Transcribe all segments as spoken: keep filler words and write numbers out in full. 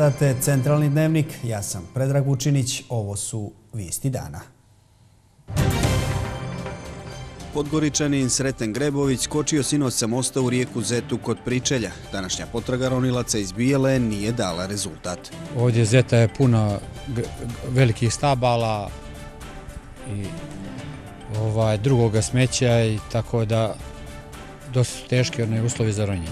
Gledate Centralni dnevnik, ja sam Predrag Vučinić, ovo su vijesti dana. Podgoričanin Sreten Grebović skočio sinoć sa mosta u rijeku Zetu kod Pričelja. Današnja potraga ronilaca iz Bijele nije dala rezultat. Ovdje Zeta je puna velikih stabala i ovaj, drugoga smeća i tako da dosta su teški one uslovi za ronjenje.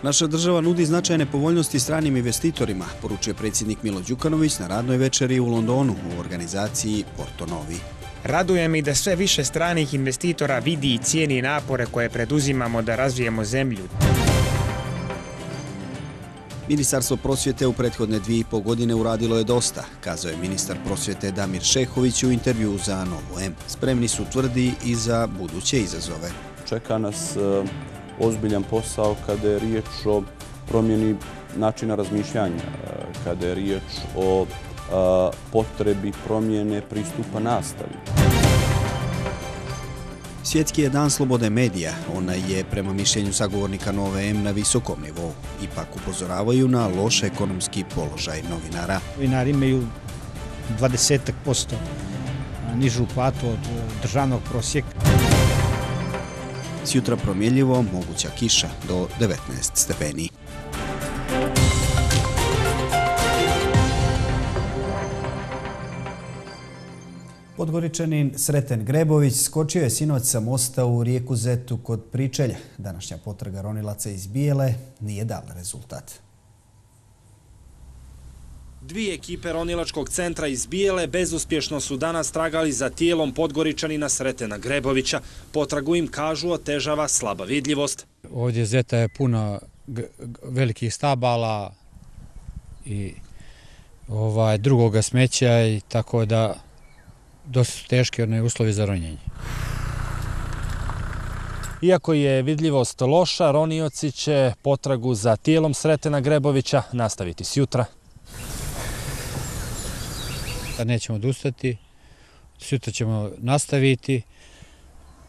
Naša država nudi značajne povoljnosti stranim investitorima, poručuje predsjednik Milo Đukanović na radnoj večeri u Londonu u organizaciji Porto Novi. Raduje mi da sve više stranih investitora vidi i cijeni napore koje preduzimamo da razvijemo zemlju. Ministarstvo prosvjete u prethodne dvije i pol godine uradilo je dosta, kazao je ministar prosvjete Damir Šehović u intervju za Novu M. Spremni su, tvrdi, i za buduće izazove. Čeka nas ozbiljan posao kada je riječ o promjeni načina razmišljanja, kada je riječ o potrebi promjene pristupa nastavi. Svjetski je dan slobode medija. Ona je, prema mišljenju sagovornika Nove M, na visokom nivou. Ipak upozoravaju na loš ekonomski položaj novinara. Novinari imaju dvadeset posto nižu platu od državnog prosjeka. Sjutra promjenljivo, moguća kiša do devetnaest stepeni. Podgoričanin Sreten Grebović skočio je sinoć sa mosta u rijeku Zetu kod Pričelja. Današnja potraga ronilaca iz Bijele nije dala rezultat. Dvije ekipe ronilačkog centra iz Bijele bezuspješno su danas tragali za tijelom Podgoričanina Sretena Grebovića. Potragu im, kažu, otežava slaba vidljivost. Ovdje Zeta je puna velikih stabala i ovaj, drugoga smeća i tako da dosta su teški one uslovi za ronjenje. Iako je vidljivost loša, ronioci će potragu za tijelom Sretena Grebovića nastaviti sjutra. Nećemo odustati, sutra ćemo nastaviti.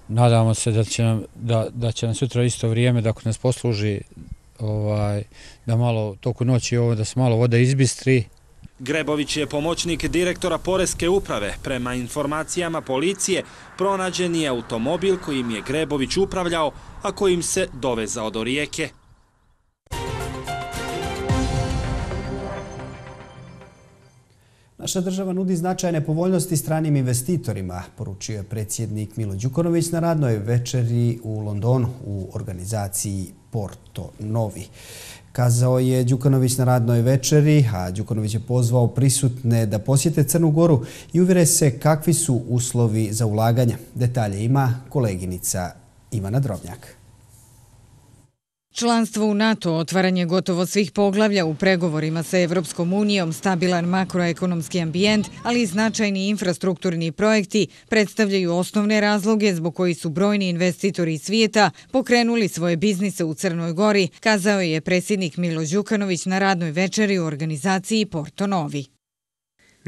Nadamo se da će nam, da, da će nam sutra isto vrijeme, da ako nas posluži, ovaj, da malo toku noći ovo, da se malo voda izbistri. Grebović je pomoćnik direktora Poreske uprave. Prema informacijama policije, pronađen je automobil kojim je Grebović upravljao, a kojim se dovezao do rijeke. Naša država nudi značajne povoljnosti stranim investitorima, poručio je predsjednik Milo Đukanović na radnoj večeri u Londonu u organizaciji Porto Novi. Kazao je Đukanović na radnoj večeri, a Đukanović je pozvao prisutne da posjete Crnu Goru i uvjere se kakvi su uslovi za ulaganje. Detalje ima koleginica Ivana Drobnjak. Članstvo u NATO, otvaranje gotovo svih poglavlja u pregovorima sa Evropskom unijom, stabilan makroekonomski ambijent, ali i značajni infrastrukturni projekti predstavljaju osnovne razloge zbog koji su brojni investitori iz svijeta pokrenuli svoje biznise u Crnoj Gori, kazao je predsjednik Milo Đukanović na radnoj večeri u organizaciji Porto Novi.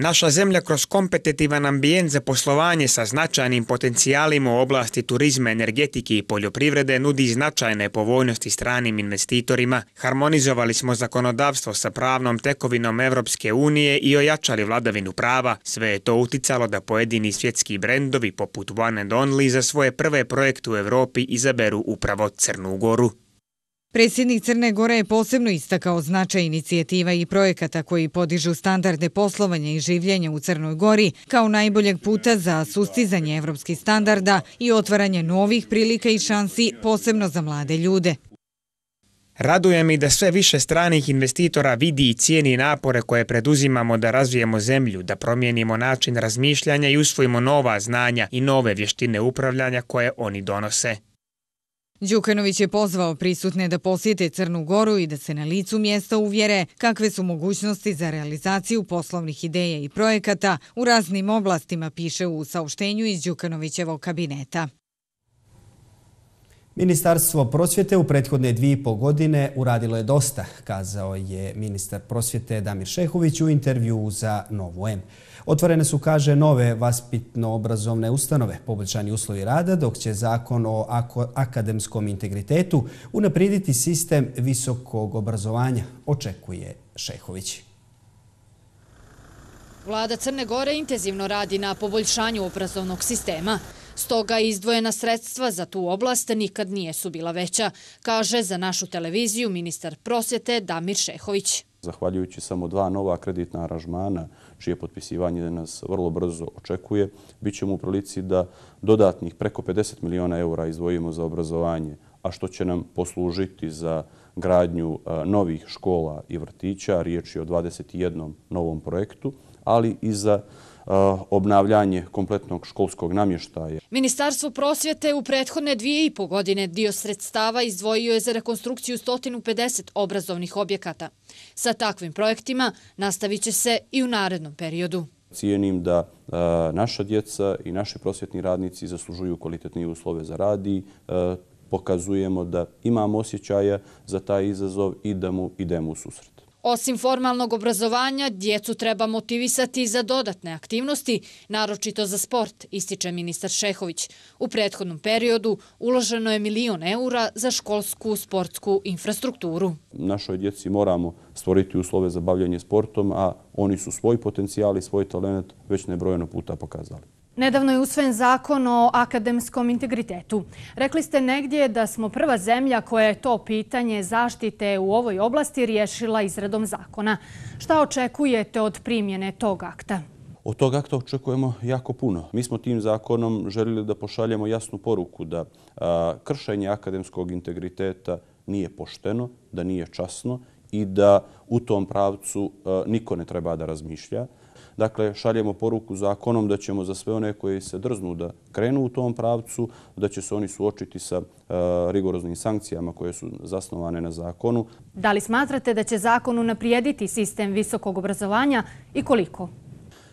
Naša zemlja kroz kompetitivan ambijent za poslovanje sa značajnim potencijalima u oblasti turizma, energetike i poljoprivrede nudi značajne povoljnosti stranim investitorima. Harmonizovali smo zakonodavstvo sa pravnom tekovinom Evropske unije i ojačali vladavinu prava. Sve je to uticalo da pojedini svjetski brendovi poput One and Only za svoje prve projekte u Evropi izaberu upravo Crnu Goru. Predsjednik Crne Gore je posebno istakao značaj inicijativa i projekata koji podižu standarde poslovanja i življenja u Crnoj Gori kao najboljeg puta za sustizanje evropskih standarda i otvaranje novih prilika i šansi, posebno za mlade ljude. Raduje mi da sve više stranih investitora vidi i cijeni napore koje preduzimamo da razvijemo zemlju, da promijenimo način razmišljanja i usvojimo nova znanja i nove vještine upravljanja koje oni donose. Đukanović je pozvao prisutne da posjete Crnu Goru i da se na licu mjesta uvjere kakve su mogućnosti za realizaciju poslovnih ideja i projekata u raznim oblastima, piše u saopštenju iz Đukanovićevog kabineta. Ministarstvo prosvjete u prethodne dvije i pol godine uradilo je dosta, kazao je ministar prosvjete Damir Šehović u intervjuu za Novu M. Otvorene su, kaže, nove vaspitno-obrazovne ustanove, poboljšani uslovi rada, dok će zakon o akademskom integritetu unaprijediti sistem visokog obrazovanja, očekuje Šehović. Vlada Crne Gore intenzivno radi na poboljšanju obrazovnog sistema. Stoga izdvojena sredstva za tu oblast nikad nije su bila veća, kaže za našu televiziju ministar prosvjete Damir Šehović. Zahvaljujući samo dva nova kreditna aranžmana, čije potpisivanje nas vrlo brzo očekuje, bit ćemo u prilici da dodatnih preko pedeset miliona eura izdvojimo za obrazovanje, a što će nam poslužiti za gradnju novih škola i vrtića, riječ je o dvadeset jednom novom projektu, ali i za obnavljanje kompletnog školskog namještaja. Ministarstvo prosvjete u prethodne dvije i pol godine dio sredstava izdvojio je za rekonstrukciju sto pedeset obrazovnih objekata. Sa takvim projektima nastavit će se i u narednom periodu. Cijenim da naša djeca i naši prosvjetni radnici zaslužuju kvalitetnije uslove za rad i pokazujemo da imamo osjećaja za taj izazov i da mu idemo u susret. Osim formalnog obrazovanja, djecu treba motivisati za dodatne aktivnosti, naročito za sport, ističe ministar Šehović. U prethodnom periodu uloženo je milion eura za školsku sportsku infrastrukturu. Našoj djeci moramo stvoriti uslove za bavljanje sportom, a oni su svoj potencijal i svoj talent već nebrojeno puta pokazali. Nedavno je usvojen zakon o akademskom integritetu. Rekli ste negdje da smo prva zemlja koja je to pitanje zaštite u ovoj oblasti riješila izradom zakona. Šta očekujete od primjene tog akta? Od tog akta očekujemo jako puno. Mi smo tim zakonom željeli da pošaljemo jasnu poruku da a, kršenje akademskog integriteta nije pošteno, da nije časno i da u tom pravcu a, niko ne treba da razmišlja. Dakle, šaljemo poruku zakonom da ćemo za sve one koji se drznu da krenu u tom pravcu, da će se oni suočiti sa rigoroznim sankcijama koje su zasnovane na zakonu. Da li smatrate da će zakon unaprijediti sistem visokog obrazovanja i koliko?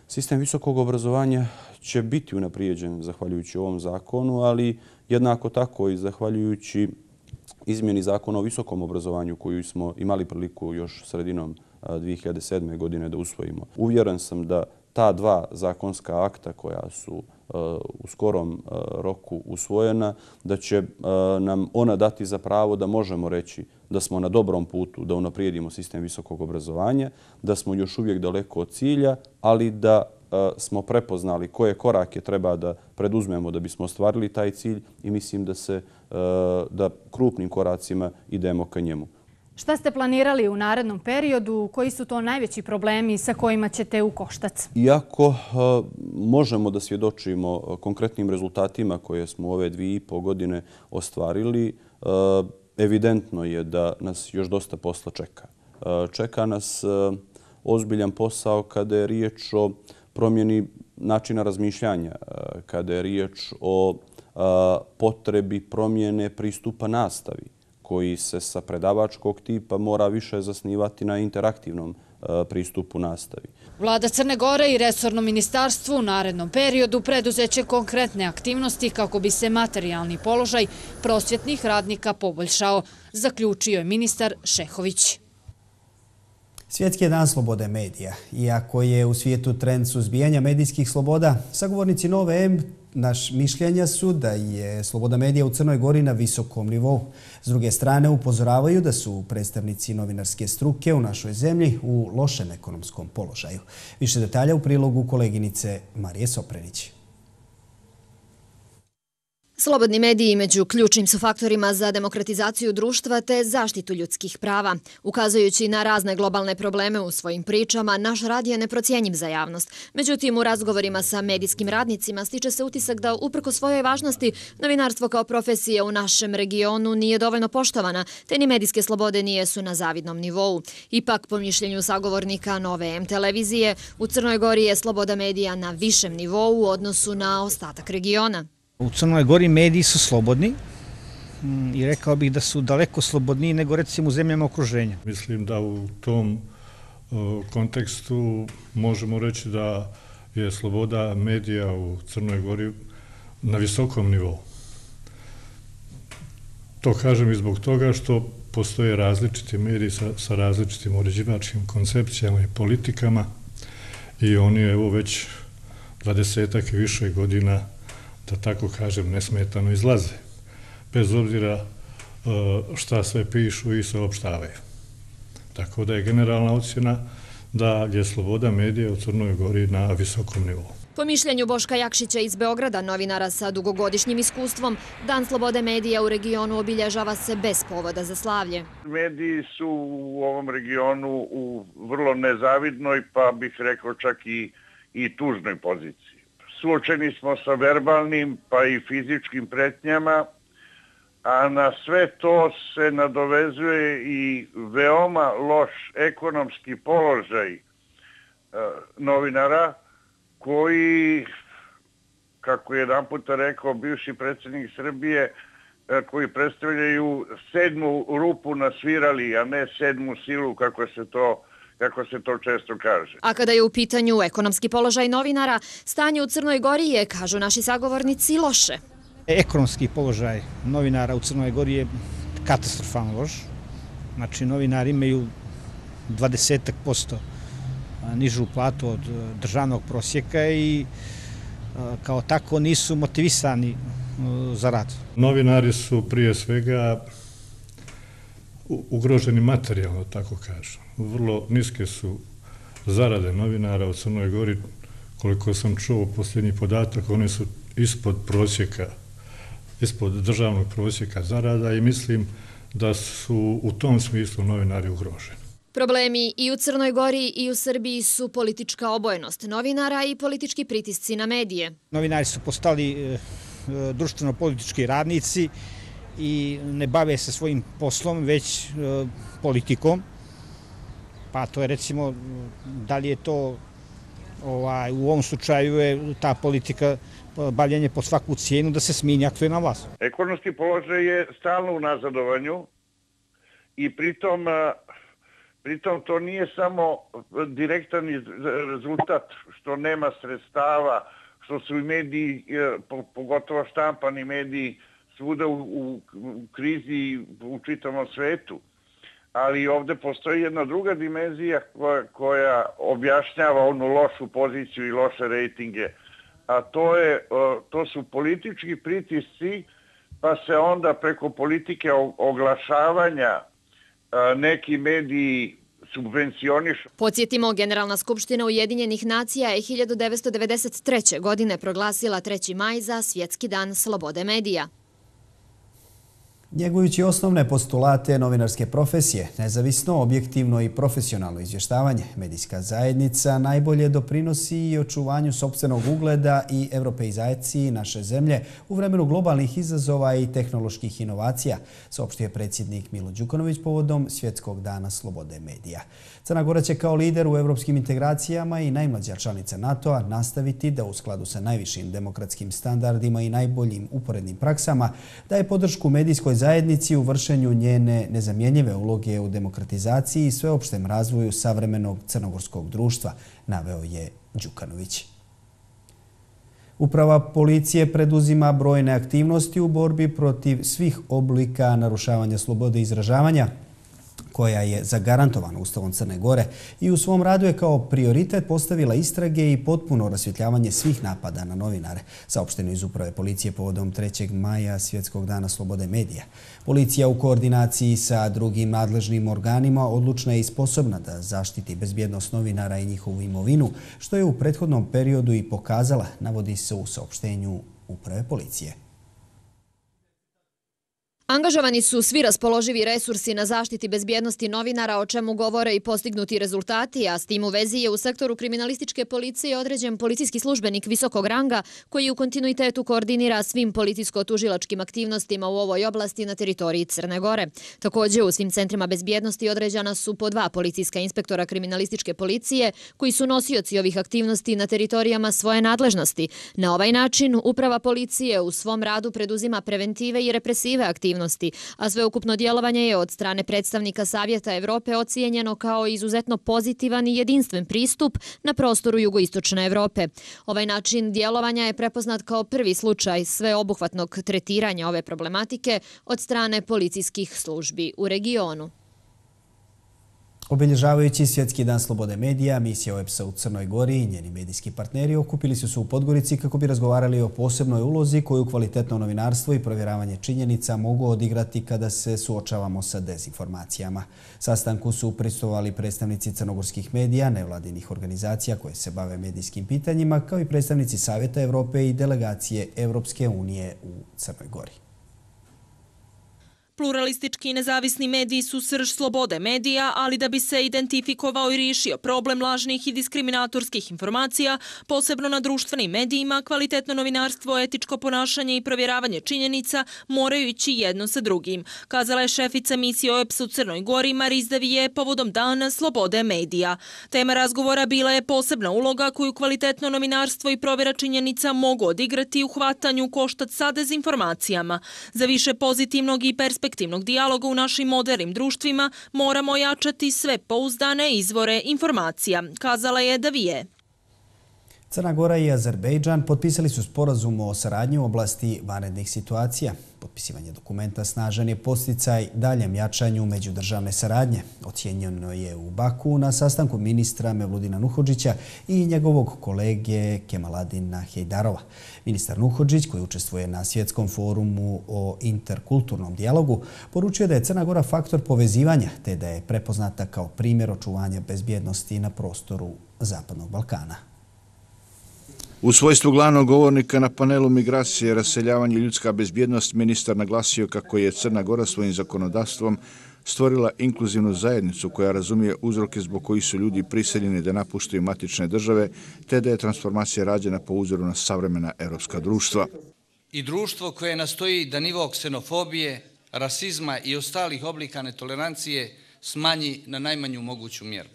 Sistem visokog obrazovanja će biti unaprijeđen zahvaljujući ovom zakonu, ali jednako tako i zahvaljujući izmjeni zakona o visokom obrazovanju koju smo imali priliku još sredinom dvije hiljade sedme. godine da usvojimo. Uvjeren sam da ta dva zakonska akta koja su u skorom roku usvojena, da će nam ona dati za pravo da možemo reći da smo na dobrom putu da unaprijedimo sistem visokog obrazovanja, da smo još uvijek daleko od cilja, ali da smo prepoznali koje korake treba da preduzmemo da bismo ostvarili taj cilj i mislim da se da krupnim koracima idemo ka njemu. Šta ste planirali u narednom periodu? Koji su to najveći problemi sa kojima ćete u koštac? Iako možemo da svjedočimo konkretnim rezultatima koje smo ove dvije i pol godine ostvarili, evidentno je da nas još dosta posla čeka. Čeka nas ozbiljan posao kada je riječ o promjeni načina razmišljanja, kada je riječ o potrebi promjene pristupa nastavi, koji se sa predavačkog tipa mora više zasnivati na interaktivnom pristupu nastavi. Vlada Crne Gore i resorno ministarstvo u narednom periodu preduzeće konkretne aktivnosti kako bi se materijalni položaj prosvjetnih radnika poboljšao, zaključio je ministar Šehović. Svjetski je dan slobode medija. Iako je u svijetu trend suzbijanja medijskih sloboda, sagovornici Nove M naš mišljenja su da je sloboda medija u Crnoj Gori na visokom nivou. S druge strane, upozoravaju da su predstavnici novinarske struke u našoj zemlji u lošem ekonomskom položaju. Više detalja u prilogu koleginice Marije Soprenić. Slobodni mediji među ključnim su faktorima za demokratizaciju društva te zaštitu ljudskih prava. Ukazujući na razne globalne probleme u svojim pričama, naš rad je neprocjenjiv za javnost. Međutim, u razgovorima sa medijskim radnicima stiče se utisak da uprko svojoj važnosti novinarstvo kao profesija u našem regionu nije dovoljno poštovana, te ni medijske slobode nijesu na zavidnom nivou. Ipak, po mišljenju sagovornika Nove M televizije, u Crnoj Gori je sloboda medija na višem nivou u odnosu na ostatak regiona. U Crnoj Gori mediji su slobodni i rekao bih da su daleko slobodniji nego recimo u zemljama okruženja. Mislim da u tom kontekstu možemo reći da je sloboda medija u Crnoj Gori na visokom nivou. To kažem i zbog toga što postoje različiti mediji sa, sa različitim uređivačkim koncepcijama i politikama i oni evo već dvadesetak i više godina, da tako kažem, nesmetano izlaze. Bez obzira šta sve pišu i saopštavaju. Tako da je generalna ocjena da je sloboda medija u Crnoj Gori na visokom nivou. Po mišljenju Boška Jakšića iz Beograda, novinara sa dugogodišnjim iskustvom, Dan slobode medija u regionu obilježava se bez povoda za slavlje. Mediji su u ovom regionu u vrlo nezavidnoj, pa bih rekao čak i, i tužnoj poziciji. Suočeni smo sa verbalnim pa i fizičkim pretnjama, a na sve to se nadovezuje i veoma loš ekonomski položaj e, novinara, koji, kako je jedan puta rekao bivši predsjednik Srbije, koji predstavljaju sedmu rupu na svirali, a ne sedmu silu, kako se to, kako se to često kaže. A kada je u pitanju ekonomski položaj novinara, stanje u Crnoj Gori je, kažu naši sagovornici, loše. Ekonomski položaj novinara u Crnoj Gori je katastrofalno loš. Znači, novinari imaju dvadeset posto nižu platu od državnog prosjeka i kao tako nisu motivisani za rad. Novinari su prije svega ugroženi materijalno, tako kažem. Vrlo niske su zarade novinara u Crnoj Gori. Koliko sam čuo posljednji podatak, one su ispod prosjeka, ispod državnog prosjeka zarada i mislim da su u tom smislu novinari ugroženi. Problemi i u Crnoj Gori i u Srbiji su politička obojenost novinara i politički pritisci na medije. Novinari su postali društveno-politički radnici i ne bave se svojim poslom, već politikom. Pa to je recimo, da li je to ovaj, u ovom slučaju je ta politika bavljenje po svaku cijenu da se smijeni aktuelna vlast. Ekonomski položaj je stalno u nazadovanju i pritom Pritom to nije samo direktan rezultat što nema sredstava, što su i mediji, pogotovo štampani mediji, svuda u, u, u krizi u čitavom svetu. Ali ovdje postoji jedna druga dimenzija koja, koja objašnjava onu lošu poziciju i loše rejtinge. A to, je, to su politički pritisci, pa se onda preko politike oglašavanja neki mediji subvencionišu. Podsjetimo, Generalna skupština Ujedinjenih nacija je hiljadu devetsto devedeset treće. godine proglasila treći maj za Svjetski dan slobode medija. Njegujući osnovne postulate novinarske profesije, nezavisno, objektivno i profesionalno izvještavanje, medijska zajednica najbolje doprinosi i očuvanju sopstvenog ugleda i europeizaciji naše zemlje u vremenu globalnih izazova i tehnoloških inovacija, saopštio je predsjednik Milo Đukanović povodom Svjetskog dana slobode medija. Crna Gora će kao lider u evropskim integracijama i najmlađa članica NATO-a nastaviti da u skladu sa najvišim demokratskim standardima i najboljim uporednim praksama daje podršku medijskoj zajednici u vršenju njene nezamjenjive uloge u demokratizaciji i sveopštem razvoju savremenog crnogorskog društva, naveo je Đukanović. Uprava policije preduzima brojne aktivnosti u borbi protiv svih oblika narušavanja slobode izražavanja, koja je zagarantovana Ustavom Crne Gore i u svom radu je kao prioritet postavila istrage i potpuno rasvjetljavanje svih napada na novinare, saopšteno iz Uprave policije povodom trećeg maja Svjetskog dana slobode medija. Policija u koordinaciji sa drugim nadležnim organima odlučna je i sposobna da zaštiti bezbjednost novinara i njihovu imovinu, što je u prethodnom periodu i pokazala, navodi se u saopštenju Uprave policije. Angažovani su svi raspoloživi resursi na zaštiti bezbjednosti novinara, o čemu govore i postignuti rezultati, a s tim u vezi je u sektoru kriminalističke policije određen policijski službenik visokog ranga koji u kontinuitetu koordinira svim policijsko-tužilačkim aktivnostima u ovoj oblasti na teritoriji Crne Gore. Također u svim centrima bezbjednosti određena su po dva policijska inspektora kriminalističke policije koji su nosioci ovih aktivnosti na teritorijama svoje nadležnosti. Na ovaj način Uprava policije u svom radu preduzima preventive i represive aktivnosti aktivnosti, a sveukupno djelovanje je od strane predstavnika Savjeta Evrope ocijenjeno kao izuzetno pozitivan i jedinstven pristup na prostoru jugoistočne Evrope. Ovaj način djelovanja je prepoznat kao prvi slučaj sveobuhvatnog tretiranja ove problematike od strane policijskih službi u regionu. Obilježavajući Svjetski dan slobode medija, misija O E B S-a u Crnoj Gori i njeni medijski partneri okupili su se u Podgorici kako bi razgovarali o posebnoj ulozi koju kvalitetno novinarstvo i provjeravanje činjenica mogu odigrati kada se suočavamo sa dezinformacijama. Sastanku su prisustvovali predstavnici crnogorskih medija, nevladinih organizacija koje se bave medijskim pitanjima, kao i predstavnici Savjeta Evrope i delegacije Evropske unije u Crnoj Gori. Pluralistički i nezavisni mediji su srž slobode medija, ali da bi se identifikovao i riješio problem lažnih i diskriminatorskih informacija, posebno na društvenim medijima, kvalitetno novinarstvo, etičko ponašanje i provjeravanje činjenica moraju ići jedno sa drugim, kazala je šefica misije O E B S u Crnoj Gori Mariz Davije povodom Dana slobode medija. Tema razgovora bila je posebna uloga koju kvalitetno novinarstvo i provjera činjenica mogu odigrati u hvatanju koštac sa dezinformacijama. Za više pozitivnog i perspektivnog perspektivnog dijaloga u našim modernim društvima moramo jačati sve pouzdane izvore informacija, kazala je Davije. Crna Gora i Azerbejdžan potpisali su sporazum o saradnji u oblasti vanrednih situacija. Potpisivanje dokumenta snažan je podsticaj daljem jačanju međudržavne saradnje. Ocijenjeno je u Baku na sastanku ministra Mevludina Nuhodžića i njegovog kolege Kemaladina Hejdarova. Ministar Nuhodžić, koji učestvuje na Svjetskom forumu o interkulturnom dijalogu, poručuje da je Crna Gora faktor povezivanja te da je prepoznata kao primjer očuvanja bezbjednosti na prostoru Zapadnog Balkana. U svojstvu glavnog govornika na panelu Migracije, raseljavanje i ljudska bezbjednost, ministar naglasio kako je Crna Gora svojim zakonodavstvom stvorila inkluzivnu zajednicu koja razumije uzroke zbog kojih su ljudi prisiljeni da napuštaju matične države, te da je transformacija rađena po uzoru na savremena europska društva. I društvo koje nastoji da nivo ksenofobije, rasizma i ostalih oblika netolerancije smanji na najmanju moguću mjeru.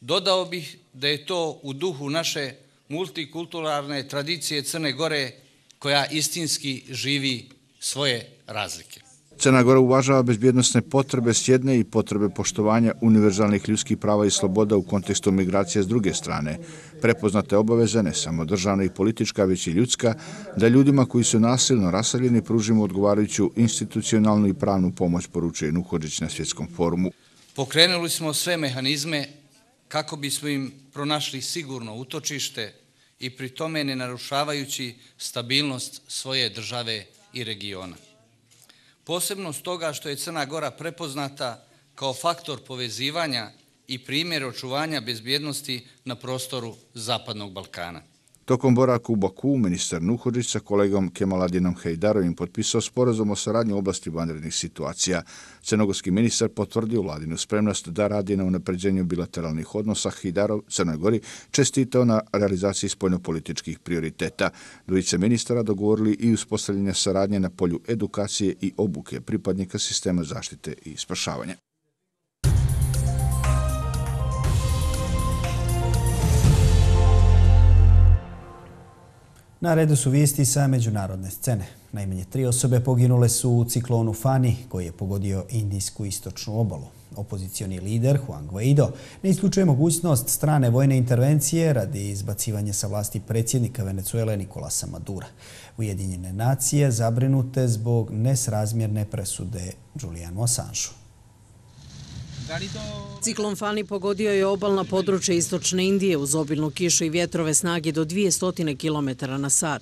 Dodao bih da je to u duhu naše multikulturalne tradicije Crne Gore koja istinski živi svoje razlike. Crna Gora uvažava bezbjednosne potrebe s jedne i potrebe poštovanja univerzalnih ljudskih prava i sloboda u kontekstu migracije s druge strane. Prepoznate obaveze, ne samo državna i politička, već i ljudska, da ljudima koji su nasilno raseljeni pružimo odgovarajuću institucionalnu i pravnu pomoć, poručuje Nuhodžić na Svjetskom forumu. Pokrenuli smo sve mehanizme kako bismo im pronašli sigurno utočište i pri tome ne narušavajući stabilnost svoje države i regiona. Posebno stoga što je Crna Gora prepoznata kao faktor povezivanja i primjer očuvanja bezbjednosti na prostoru Zapadnog Balkana. Tokom boravka u Baku, ministar Nuhodžić sa kolegom Kemaladinom Hejdarovim potpisao sporazum o saradnji u oblasti vanrednih situacija. Crnogorski ministar potvrdio vladinu spremnost da radi na unapređenju bilateralnih odnosa. Hejdarov Crnoj Gori čestitao na realizaciji spoljnopolitičkih prioriteta. Dvojice ministara dogovorili i uspostavljanje saradnje na polju edukacije i obuke pripadnika sistema zaštite i spašavanja. Na redu su vijesti sa međunarodne scene. Najmanje tri osobe poginule su u ciklonu Fani, koji je pogodio indijsku istočnu obalu. Opozicioni lider Juan Guaido ne isključuje mogućnost strane vojne intervencije radi izbacivanja sa vlasti predsjednika Venezuele Nicolasa Madura. Ujedinjene nacije zabrinute zbog nesrazmjerne presude Julianu Assangeu. Ciklon Fani pogodio je obalna područja istočne Indije uz obilnu kišu i vjetrove snage do dvjesto kilometara na sat.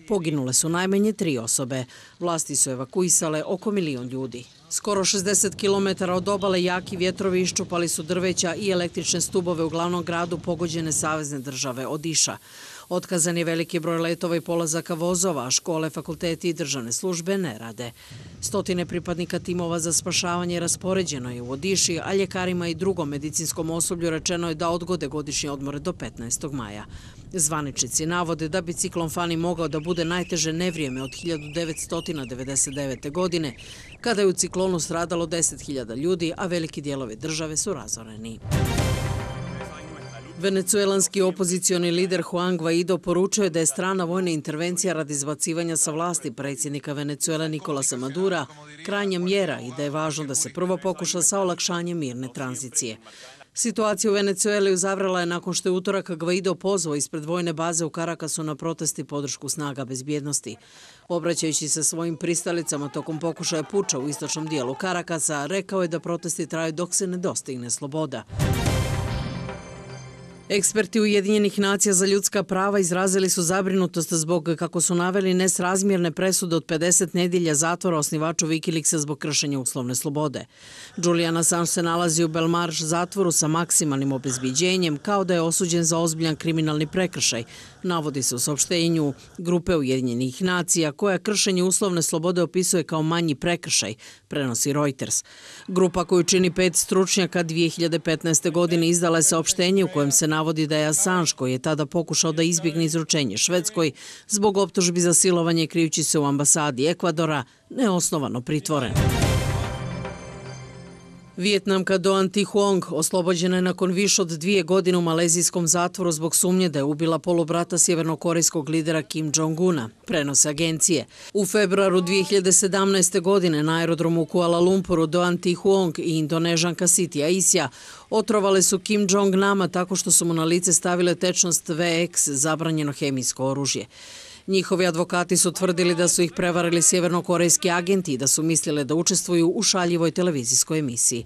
Poginule su najmanje tri osobe. Vlasti su evakuisale oko milion ljudi. Skoro šezdeset kilometara od obale jaki vjetrovi iščupali su drveća i električne stubove u glavnom gradu pogođene savezne države Odiša. Otkazan je veliki broj letova i polazaka vozova, a škole, fakulteti i državne službe ne rade. Stotine pripadnika timova za spašavanje raspoređeno je u Odiši, a ljekarima i drugom medicinskom osoblju rečeno je da odgode godišnje odmore do petnaestog maja. Zvaničnici navode da bi ciklon Fani mogao da bude najteže nevrijeme od hiljadu devetsto devedeset devete. godine, kada je u ciklonu stradalo deset hiljada ljudi, a veliki dijelovi države su razoreni. Venecuelanski opozicioni lider Juan Guaido poručio je da je strana vojna intervencija radi izbacivanja sa vlasti predsjednika Venecuela Nicolasa Madura krajnja mjera i da je važno da se prvo pokuša sa olakšanjem mirne tranzicije. Situacija u Venecueli uzavrela je nakon što je utorak Guaido pozvao ispred vojne baze u Carakasu na protesti podršku snaga bezbjednosti. Obraćajući se svojim pristalicama tokom pokušaja puča u istočnom dijelu Carakasa, rekao je da protesti traju dok se ne dostigne sloboda. Eksperti Ujedinjenih nacija za ljudska prava izrazili su zabrinutost zbog, kako su naveli, nesrazmjerne presude od pedeset nedjelja zatvora osnivaču Wikileaksa zbog kršenja uslovne slobode. Julian Assange se nalazi u Belmarsh zatvoru sa maksimalnim obezbiđenjem, kao da je osuđen za ozbiljan kriminalni prekršaj, navodi se u saopštenju grupe Ujedinjenih nacija, koja kršenje uslovne slobode opisuje kao manji prekršaj, prenosi Reuters. Grupa koju čini pet stručnjaka dvije hiljade petnaeste. godine izdala je saopštenje u kojem se navodi da je Assange, koji je tada pokušao da izbjegne izručenje Švedskoj, zbog optužbi za silovanje krijući se u ambasadi Ekvadora, neosnovano pritvoren. Vijetnamka Doan Thi Huong oslobođena je nakon više od dvije godine u malezijskom zatvoru zbog sumnje da je ubila polubrata sjevernokorejskog lidera Kim Jong-una, prenose agencije. U februaru dvije hiljade sedamnaeste. godine na aerodromu u Kuala Lumpuru Doan Thi Huong i Indonežanka Siti Aisyah otrovale su Kim Jong-nama tako što su mu na lice stavile tečnost V X, zabranjeno hemijsko oružje. Njihovi advokati su tvrdili da su ih prevarili sjevernokorejski agenti i da su mislile da učestvuju u šaljivoj televizijskoj emisiji.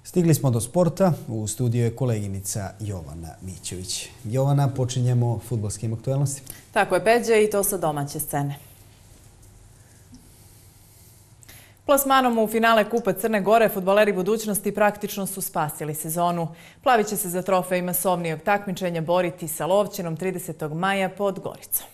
Stigli smo do sporta. U studiju je koleginica Jovana Mićević. Jovana, počinjemo fudbalskim aktualnostima. Tako je, Peđe, i to sa domaće scene. Plasmanom u finale Kupa Crne Gore fudbaleri budućnosti praktično su spasili sezonu. Plavi će se za trofej masovnijeg takmičenja boriti sa Lovćenom tridesetog maja pod Goricom.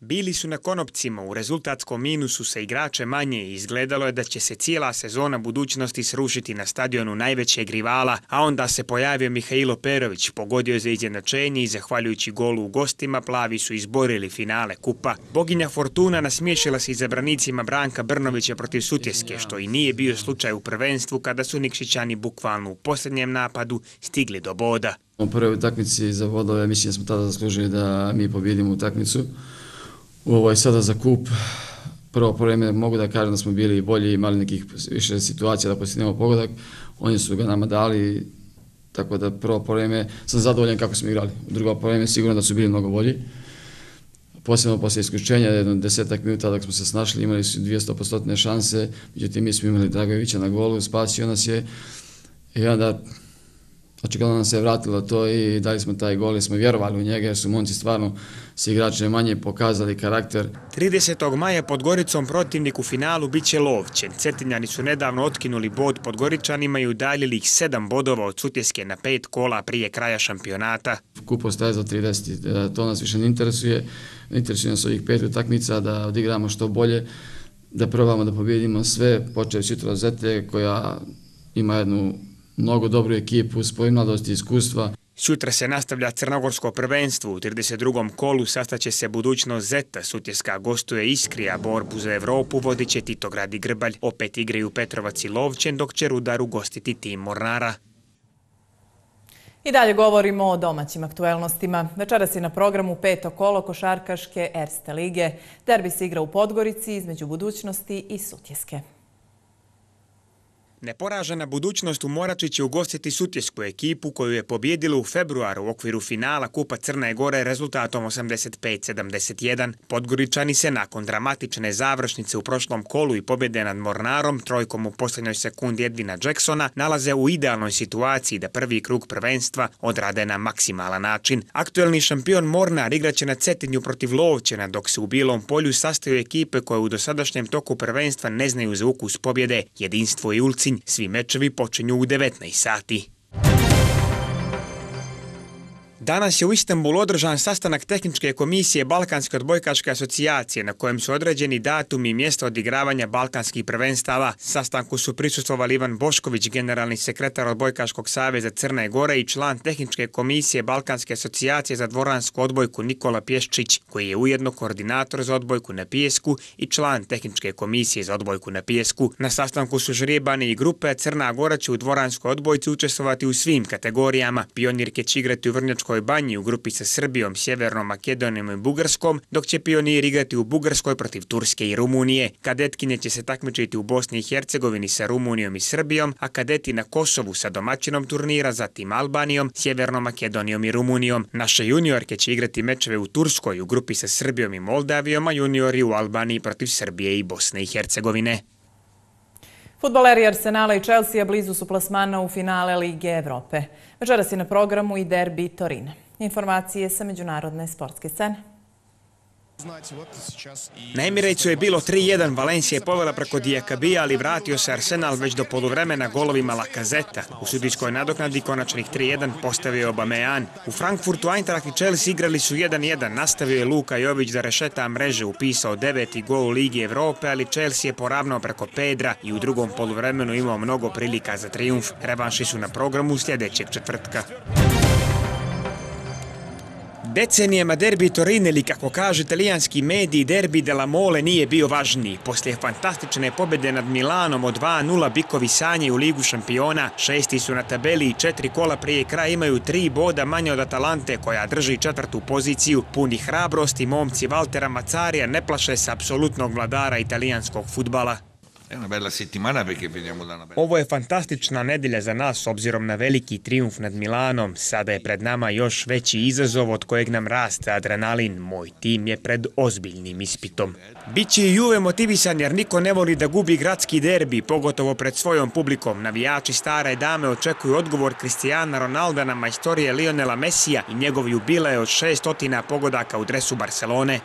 Bili su na konopcima, u rezultatskom minusu sa igrače manje i izgledalo je da će se cijela sezona budućnosti srušiti na stadionu najvećeg rivala, a onda se pojavio Mihajlo Perović, pogodio za izjednačenje i zahvaljujući golu u gostima plavi su izborili finale kupa. Boginja Fortuna nasmiješila se izabranicima Branka Brnovića protiv Sutjeske, što i nije bio slučaj u prvenstvu kada su Nikšićani bukvalno u posljednjem napadu stigli do boda. U prvoj utakmici za bodove mislim da smo tada zaslužili da mi pobjedimo utakmicu. U ovoj sada za kup, prvo vreme mogu da kažem da smo bili bolji, imali nekih više situacija da postignemo pogodak, oni su ga nama dali, tako da prvo vreme sam zadovoljan kako smo igrali. U drugo vreme sigurno da su bili mnogo bolji. Posebno poslije isključenja, jedno desetak minuta dok smo se snašli, imali su dvjesto posto šanse, međutim mi smo imali Dragovića na golu, spasio nas je i onda očigledno nam se je vratilo to i dali smo taj gol i smo vjerovali u njega jer su momci stvarno s igrače manje pokazali karakter. tridesetog maja pod Goricom protivnik u finalu bit će Lovćen. Cetinjani su nedavno otkinuli bod pod Goričanima i udaljili ih sedam bodova od Sutjeske na pet kola prije kraja šampionata. Kup ostaje za trideset, to nas više ne interesuje. Interesuje nas ovih pet utakmica da odigramo što bolje, da probamo da pobjedimo sve, počeći sutra Zete koja ima jednu mnogo dobru ekipu, spoj mladosti i iskustva. Sutra se nastavlja crnogorsko prvenstvo. U trideset drugom kolu sastaće se budućnost Zeta. Sutjeska gostuje Iskrija, borbu za Evropu vodit će Titograd i Grbalj. Opet igraju Petrovac i Lovćen, dok će Rudar ugostiti tim Mornara. I dalje govorimo o domaćim aktuelnostima. Večeras je na programu peto kolo košarkaške Erste lige. Derbi se igra u Podgorici između budućnosti i Sutjeske. Neporažena budućnost u Morači će ugostiti Sutjesku ekipu koju je pobjedila u februaru u okviru finala Kupa Crne Gore rezultatom osamdeset pet sedamdeset jedan. Podgoričani se nakon dramatične završnice u prošlom kolu i pobjede nad Mornarom, trojkom u posljednjoj sekundi Edvina Jacksona, nalaze u idealnoj situaciji da prvi krug prvenstva odrade na maksimalan način. Aktuelni šampion Mornar igraće na Cetinju protiv Lovćena, dok se u Bilom polju sastaju ekipe koje u dosadašnjem toku prvenstva ne znaju za ukus pobjede, Jedinstvo i Ulcinj. Svi mečevi počinju u devetnaest sati. Danas je u Istanbulu održan sastanak tehničke komisije Balkanske odbojkaške asocijacije na kojem su određeni datumi i mjesta odigravanja balkanskih prvenstava. Sastanku su prisustvovali Ivan Bošković, generalni sekretar Odbojkaškog saveza Crne Gore i član tehničke komisije Balkanske asocijacije za dvoransku odbojku Nikola Pješčić, koji je ujedno koordinator za odbojku na pijesku i član tehničke komisije za odbojku na pijesku. Na sastanku su žrijebani i grupe. Crna Gora će u dvoranskoj odbojci učestvovati u svim kategorijama. Pionirke će igrati u Vrnjačkoj Banji u grupi sa Srbijom, Sjevernom Makedonijom i Bugarskom, dok će pioniri igrati u Bugarskoj protiv Turske i Rumunije. Kadetkinje će se takmičiti u Bosni i Hercegovini sa Rumunijom i Srbijom, a kadeti na Kosovu sa domaćinom turnira, zatim Albanijom, Sjevernom Makedonijom i Rumunijom. Naše juniorke će igrati mečeve u Turskoj u grupi sa Srbijom i Moldavijom, a juniori u Albaniji protiv Srbije i Bosne i Hercegovine. Fudbaleri Arsenala i Chelsea blizu su plasmana u finale Lige Evrope. Večeras je na programu i derbi Torina. Informacije sa međunarodne sportske scene. Na Emirejcu je bilo tri jedan, Valencija je povela preko Diakabija, ali vratio se Arsenal već do poluvremena golovima Lakazeta. U sudijskoj nadoknadi konačnih tri jedan postavio Aubameyang. U Frankfurtu Eintracht i Chelsea igrali su jedan jedan, nastavio je Luka Jović da rešeta mreže, upisao deveti gol u Ligi Evrope, ali Chelsea je poravnao preko Pedra i u drugom poluvremenu imao mnogo prilika za trijumf. Revanši su na programu sljedećeg četvrtka. Decenijama derbi Torine, ili kako kaže italijanski mediji, derbi della Mole nije bio važniji. Poslije fantastične pobjede nad Milanom od dva nula bikovi sanjaju Ligu šampiona, šesti su na tabeli i četiri kola prije kraja imaju tri boda manje od Atalante koja drži četvrtu poziciju. Puni hrabrosti, momci Valtera Mazarija ne plaše se apsolutnog vladara italijanskog fudbala. Ovo je fantastična nedjelja za nas s obzirom na veliki trijumf nad Milanom. Sada je pred nama još veći izazov od kojeg nam raste adrenalin. Moj tim je pred ozbiljnim ispitom. Biće i Juve motivisan jer niko ne voli da gubi gradski derbi, pogotovo pred svojom publikom. Navijači stare dame očekuju odgovor Cristiana Ronalda na majstorije Lionela Messija i njegov jubilej od šestotina pogodaka u dresu Barcelone.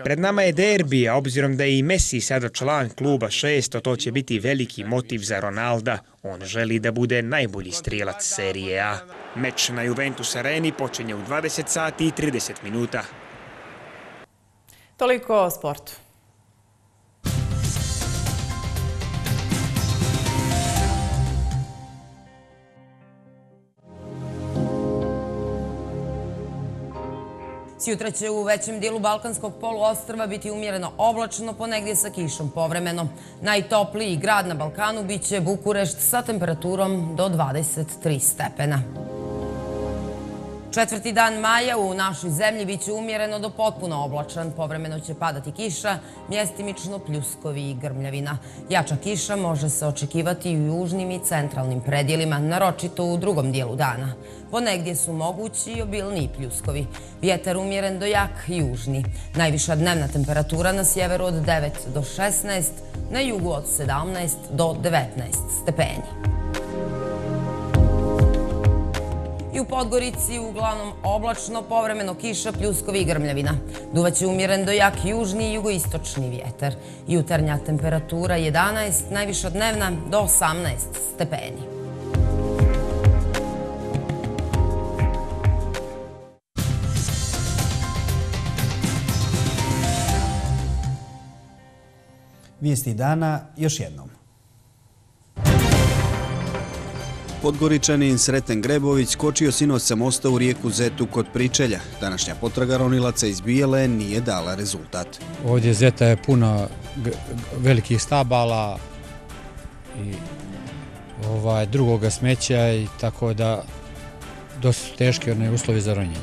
Pred nama je derbi, a obzirom da je i Messi sada član kluba šesto, to će biti veliki motiv za Ronalda. On želi da bude najbolji strijelac serije A. Meč na Juventus Areni počinje u dvadeset sati i trideset minuta. Toliko o sportu. Sjutra će u većem dijelu Balkanskog poluostrva biti umjereno oblačno, ponegdje sa kišom povremeno. Najtopliji grad na Balkanu biće Bukurešt sa temperaturom do dvadeset tri stepena. Četvrti dan maja u našoj zemlji biće umjereno do potpuno oblačan. Povremeno će padati kiša, mjestimično pljuskovi i grmljavina. Jača kiša može se očekivati i u južnim i centralnim predjelima, naročito u drugom dijelu dana. Ponegdje su mogući i obilniji pljuskovi. Vjetar umjeren do jak južni. Najviša dnevna temperatura na sjeveru od devet do šesnaest, na jugu od sedamnaest do devetnaest stepeni. I u Podgorici uglavnom oblačno, povremeno kiša, pljuskovi i grmljavina. Duvaće umjeren do jak južni i jugoistočni vjetar. Jutarnja temperatura jedanaest, najviša dnevna do osamnaest stepeni. Vijesti dana još jednom. Podgoričanin Sreten Grebović skočio sinoć sa mosta u rijeku Zetu kod Pričelja. Današnja potraga ronilaca iz Bijele nije dala rezultat. Ovdje Zeta je puno velikih stabala i ovaj, drugoga smeća i tako da dosta su teški one uslovi za ronjenje.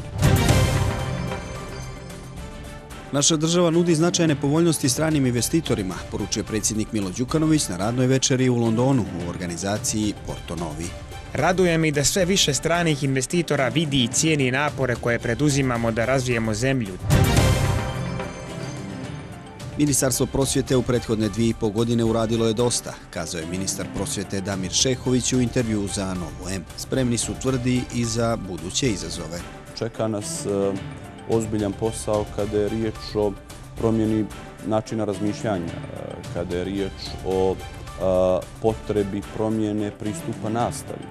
Naša država nudi značajne povoljnosti stranim investitorima, poručuje predsjednik Milo Đukanović na radnoj večeri u Londonu u organizaciji Porto Novi. Raduje mi da sve više stranih investitora vidi i cijeni napore koje preduzimamo da razvijemo zemlju. Ministarstvo prosvjete u prethodne dvije i pol godine uradilo je dosta, kazao je ministar prosvjete Damir Šehović u intervju za Novo M. Spremni su, tvrdi, i za buduće izazove. Čeka nas ozbiljan posao kada je riječ o promjeni načina razmišljanja, kada je riječ o potrebi promjene pristupa nastavi.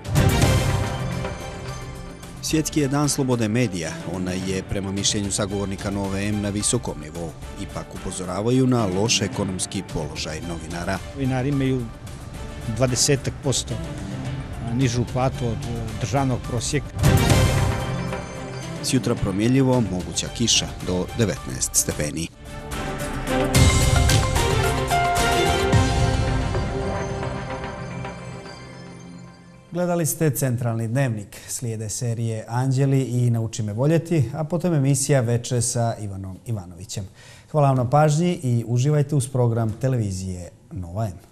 Svjetski je dan slobode medija. Ona je, prema mišljenju sagovornika Nove M, na visokom nivou. Ipak upozoravaju na loš ekonomski položaj novinara. Novinari imaju dvadeset posto nižu platu od državnog prosjeka. Sjutra promjenljivo, moguća kiša do devetnaest stepeni. Gledali ste Centralni dnevnik, slijede serije Anđeli i Nauči me voljeti, a potom emisija Veče sa Ivanom Ivanovićem. Hvala vam na pažnji i uživajte uz program televizije Nova M.